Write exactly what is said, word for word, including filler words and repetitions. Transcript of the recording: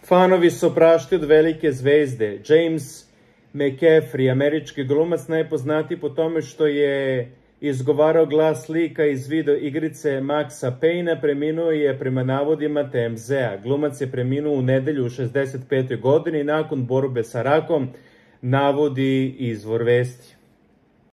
Fanovi su oprašti od velike zvezde. James McCaffrey, američki glumac, najpoznatiji po tome što je izgovarao glas lika iz video igrice Maxa Payne, preminuo je prema navodima T M Z-a. Glumac je preminuo u nedelju u šezdeset petoj godini nakon borbe sa rakom, navodi izvor vesti.